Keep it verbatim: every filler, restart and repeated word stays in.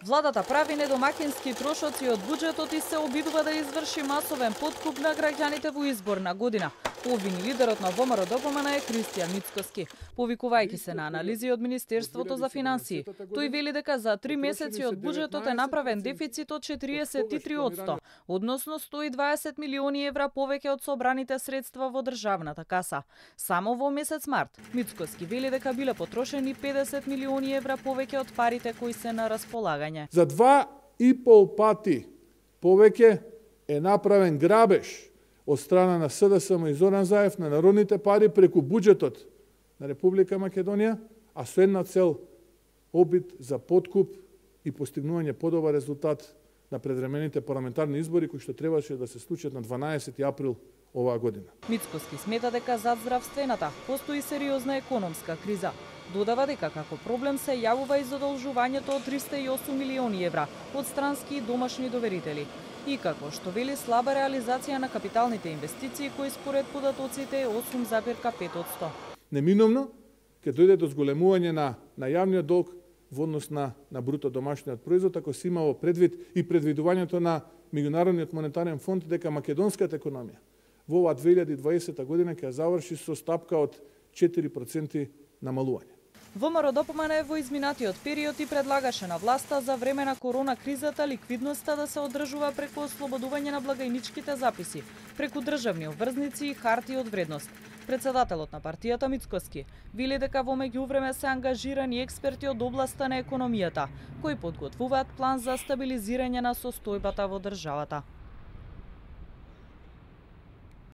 Владата прави недомакински трошоци од буџетот и се обидува да изврши масовен подкуп на граѓаните во изборна година. Обвини лидерот на ВМРО-ДПМН е Кристијан Мицкоски, повикувајќи се на анализи од Министерството за финансии. Тој вели дека за три месеци од буџетот е направен дефицит од четиридесет и три одсто, односно сто и дваесет милиони евра повеќе од собраните средства во државната каса. Само во месец март Мицкоски вели дека биле потрошени педесет милиони евра повеќе од парите кои се на располагање. За два и пол пати повеќе е направен грабеж од страна на СДСМ и Зоран Заев на народните пари преку буџетот на Република Македонија, а со една цел обид за подкуп и постигнување подобар резултат на предвремените парламентарни избори кои што требаше да се случат на дванаесети април оваа година. Мицкоски смета дека зад здравствената постои сериозна економска криза. Додава дека како проблем се јавува и задолжувањето од триста и осум милиони евра од странски и домашни доверители. И како што вели слаба реализација на капиталните инвестиции кои според податоците е осум зарез пет одсто. Неминовно ќе дојде до зголемување на на јавниот долг во однос на на бруто домашниот производ, ако се имало предвид и предвидувањето на Меѓународниот монетарен фонд дека македонската економија во оваа две илјади и дваесета година ќе заврши со стапка од четири проценти намалување. ВМРО-ДПМН во изминатиот период и предлагаше на власта за време на корона кризата ликвидноста да се одржува преку ослободување на благајничките записи, преку државни обврзници и харти од вредност. Председателот на партијата Мицкоски вели дека во меѓувреме се ангажирани експерти од областа на економијата, кои подготвуваат план за стабилизирање на состојбата во државата.